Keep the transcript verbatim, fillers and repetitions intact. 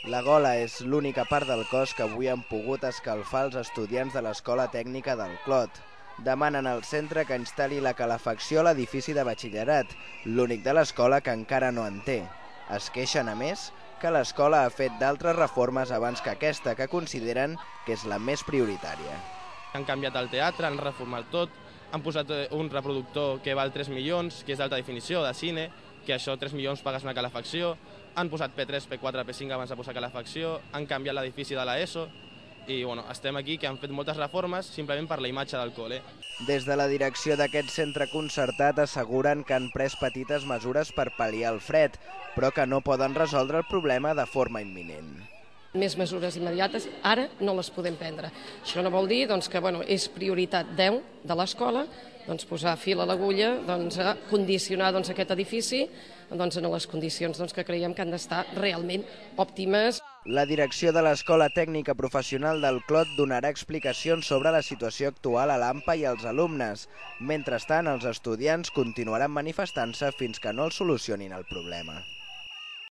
La gola és l'única part del cos que avui han pogut escalfar els estudiants de l'Escola Tècnica del Clot. Demanen al centre que instal·li la calefacció a l'edifici de batxillerat, l'únic de l'escola que encara no en té. Es queixen, a més, que l'escola ha fet d'altres reformes abans que aquesta, que consideren que és la més prioritària. Han canviat el teatre, han reformat tot, han posat un reproductor que val tres milions, que és d'alta definició, de cine, que això tres milions pagues una calefacció, han posat P tres, P quatre, P cinc abans de posar calefacció, han canviat l'edifici de l'ESO i bueno, estem aquí que han fet moltes reformes simplement per la imatge del col·le. Des de la direcció d'aquest centre concertat asseguren que han pres petites mesures per pal·liar el fred, però que no poden resoldre el problema de forma imminent. Més mesures immediates ara no les podem prendre. Això no vol dir doncs, que bueno, és prioritat deu de l'escola doncs, posar fil a l'agulla, doncs, a condicionar doncs, aquest edifici doncs, en les condicions doncs, que creiem que han d'estar realment òptimes. La direcció de l'Escola Tècnica Professional del Clot donarà explicacions sobre la situació actual a l'A M P A i als alumnes. Mentrestant, els estudiants continuaran manifestant-se fins que no el solucionin el problema.